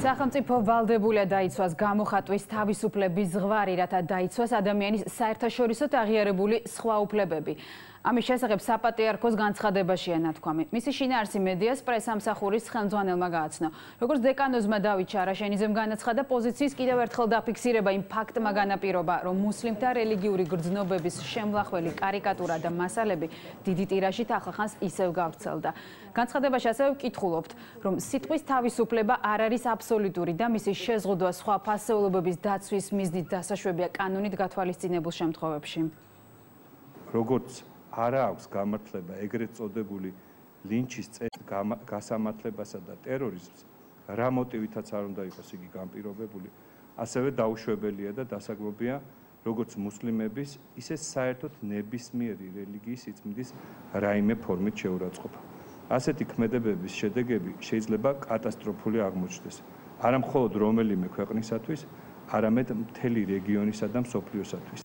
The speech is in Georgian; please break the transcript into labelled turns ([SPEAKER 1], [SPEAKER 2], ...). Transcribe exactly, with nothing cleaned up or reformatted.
[SPEAKER 1] სახელმწიფო ვალდებულია დაიცვას გამოხატვის თავისუფლების ზღვარი, რათა დაიცვას ადამიანის საერთაშორისოდ აღიარებული სხვა უფლებები. ამის შესახებ საპატრიარქოს განცხადებაშია ნათქვამი. მისი შინაარსი მედიას პრესამსახურის ხელმძღვანელმა გააცნო. როგორც დეკანოზმა დავით ჩარაშენიძემ განაცხადა, პოზიციის კიდევ ერთხელ დაფიქსირება იმ ფაქტმა განაპირობა, რომ მუსლიმთა რელიგიური გრძნობების შემლახველი კარიკატურა და მასალები დიდი ტირაჟით ახლახანს ისევ გავრცელდა. განცხადებაში ასევე ვკითხულობთ, რომ სიტყვის თავისუფლება არ არის აბსოლუტური და მისი შეზღუდვა სხვა ფასეულობების დაცვის მიზნით დასაშვებია კანონით გათვალისწინებულ შემთხვევებში.
[SPEAKER 2] როგორც არა აქვს გამართლება ეგრეთ წოდებული ლინჩის გასამართლებასა და ტერორიზმს, რა მოტივითაც არ უნდა იყოს იგი განპირობებული, ასევე დაუშვებელია და დასაგმობია როგორც მუსლიმების, ისე საერთოდ ნებისმიერი რელიგიის სიწმინდის რაიმე ფორმით შეურაცხყოფა. ასეთი ქმედებების შედეგები შეიძლება კატასტროფული აღმოჩნდეს. არა მხოლოდ რომელიმე ქვეყნისათვის, არამედ მთელი რეგიონისა და მსოფლიოსათვის.